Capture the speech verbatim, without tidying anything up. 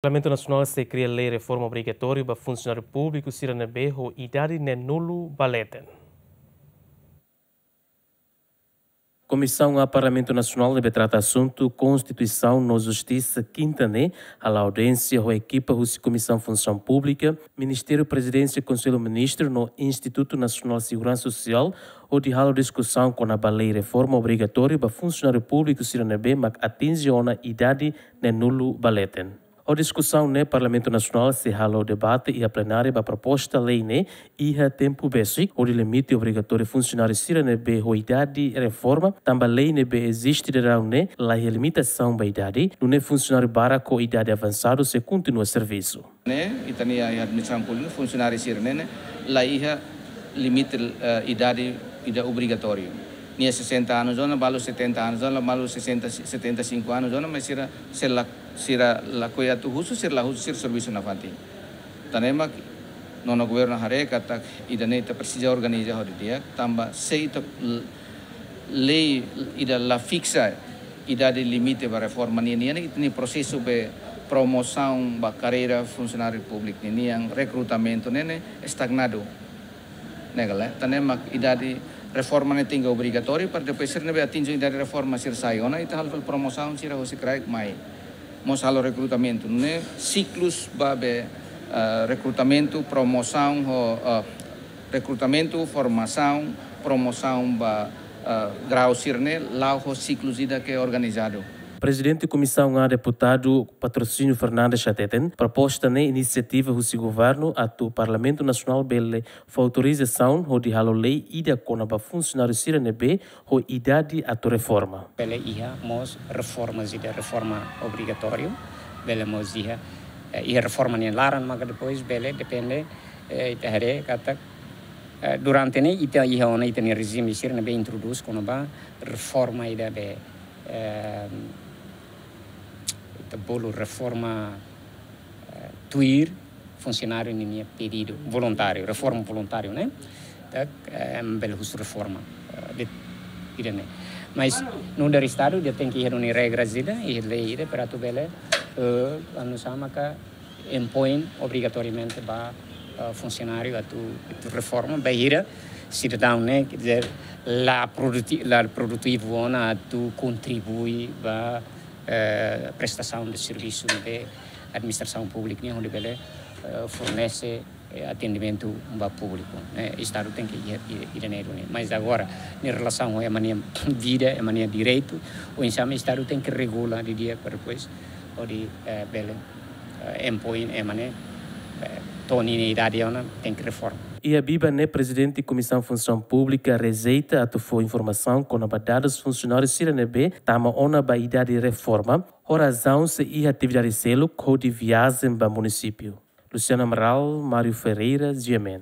Parlamentu Nasionál sei kria lei reforma obrigatóriu ba funsionáriu públiku sira ne'ebé ho idade neenulu ba leten. Komisaun A Parlamentu Nasionál ne'ebé trata asuntu Konstituisaun no Justisa, kinta ne'e, hala'o audiénsia ho ekipa husi Komisaun Funsaun Públika, Ministériu Prezidénsia, Konsellu Ministru no Institutu Nasionál Seguransa Sosiál, hodi halo diskusaun kona-ba lei reforma obrigatóriu ba funsionáriu públiku sira ne'ebé mak atinje ona idade neenulu ba leten. Ho diskusaun ne'e, Parlamentu Nasionál sei halo debate iha plenária ba proposta lei ne'e iha tempu besik, hodi limite obrigatóriu funsionáriu sira ne'ebé ho idade reforma, tanba lei ne'ebé eziste daudaun ne'e la iha limitasaun ba idade, nune'e funsionáriu barak ho idade avansadu sei kontinua servisu. Ne'e, ita-nia iha administrasaun públika, funsionáriu sira-ne'e ne'e la iha limite, eh, idade, idade obrigatóriu. Nia sesenta anos ona, balu setenta anos ona, balu sesenta, setenta e cinco anos ona, mas sira, se la, sira lakohi atu husu, sira la husu, sira servisu nafatin. Tan ne'e mak nonu governu haree katak ida-ne'e ita presiza organiza hodi di'ak, tanba se ita l-, lei ida la fiksa idade limite ba reforma nian, nian ita-nia prosesu ba promosaun ba karreira funsionáriu públiku nian, rekrutamentu ne'e ne'e estagnadu. Ne'e ka lae, tan ne'e mak idade reforma ne'e tenke obrigatóriu, para depois sira ne'ebé atinje idade reforma sira sai ona, ita halo promosaun sira hosi kraik mai. Mós halo rekrutamentu, ne'e siklus ba be, eh, rekrutamentu, promosaun ho, eh, rekrutamentu, formasaun, promosaun ba, eh, grau sira-ne'e, la'o ho siklus ida ke organizadu. Prezidente Komisaun A, Deputadu Patrocínio Fernandes hateten, proposta ne'e inisiativa husi governu atu Parlamentu Nasionál bele fó autorizasaun hodi halo lei ida kona-ba funsionáriu sira ne'ebé ho idade atu reforma. Bele iha mós reforma, ida reforma obrigatóriu, bele mós iha, eh, iha reforma nia laran, maka depois bele depende, eh, ita haree katak, eh, durante ne'e ita iha ona ita-nia rejime sira ne'ebé introdús kona-ba reforma ida be, eh, ita bolu reforma, eh, tuir funsionáriu ninia pedidu voluntáriu, reforma voluntáriu, ne'e? Ita, eh, bele husu reforma, eh, de, ida-ne'e. Mas nu'udar Estadu ita tenke iha duni regras ida, iha lei ida, para atu bele, eh, anu sama ka impoin obrigatoriamente ba, eh, funsionáriu atu, atu reforma, bainhira sidadaun ne'e, quer dizer, la produti-, la produtivu ona atu kontribui ba, eh, prestasaun de servisu ne'ebé administrasaun públika nian hodi bele, eh, fornese, eh, atendimentu ba públiku, ne'e? Estadu tenke iha, iha, iha ne'e duni. Mas agora, em relação a ema nia vida, ema nia direitu, oinsá mak Estadu tenke regula didi'ak para depois hodi, eh, bele, eh, impoin ema ne'e, eh, to'o ninia idade ona tenke reforma. Iha biban ne'e, Prezidente Komisaun Funsaun Públika rejeita atu fó informasaun kona-ba dadus funsionáriu sira ne'ebé tama ona ba idade reforma, ho razaun sei iha atividade seluk hodi viajen ba munisípiu. Luciano Amaral, Mário Ferreira, G M N.